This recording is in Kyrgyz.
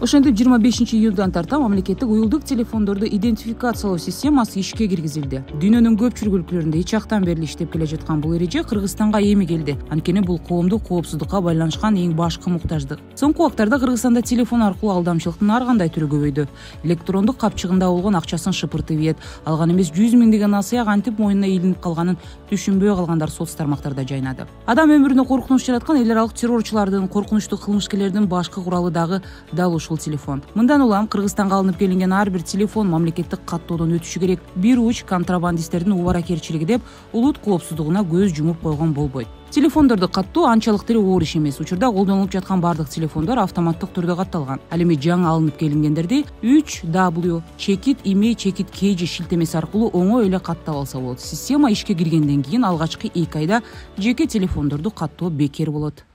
Ошентип 25-июндан тарта мамлекеттик уюлдук телефондорду идентификациялоо системасы ишке киргизилди. Дүйнөнүн көпчүлүк өлкөлөрүндө ичактан бери иштеп келе жаткан бул эреже Кыргызстанга эми келди. Анткени бул коомдук коопсуздукка байланышкан эң башкы муктаждык. Соңку убактарда Кыргызстанда телефон аркылуу алдамчылыктын ар кандай түрү көбөйдү. Электрондук капчыгында болгон акчасын шыпыртып ийет, алган эмес 100 миңдеген насыя кантип моюнуна илинип калганын түшүнбөй калгандар соц тармактарда жайнады. Адам өмүрүнө коркунуч жараткан эл аралык террорчулардын, коркунучтуу кылмышкерлердин башкы куралы дагы дал ушул телефон. Мындан улам Кыргызстанга алынып келинген ар бир телефон мамлекеттик каттоодон өтүшү керек. Бир уч контрабандисттердин убаракерчилиги деп улут коопсуздугуна көз жумуп койгон болбойт. Телефондорду каттоо анчалык деле оор иш эмес. Учурда колдонулуп жаткан бардык телефондор автоматтык түрдө катталган. Ал эми жаңы алынып келингендерди 3W-email-kg шилтемеси аркылуу оңой эле каттап алса болот. Система ишке киргенден кийин алгачкы 2 айда жеке телефондорду каттоо бекер болот.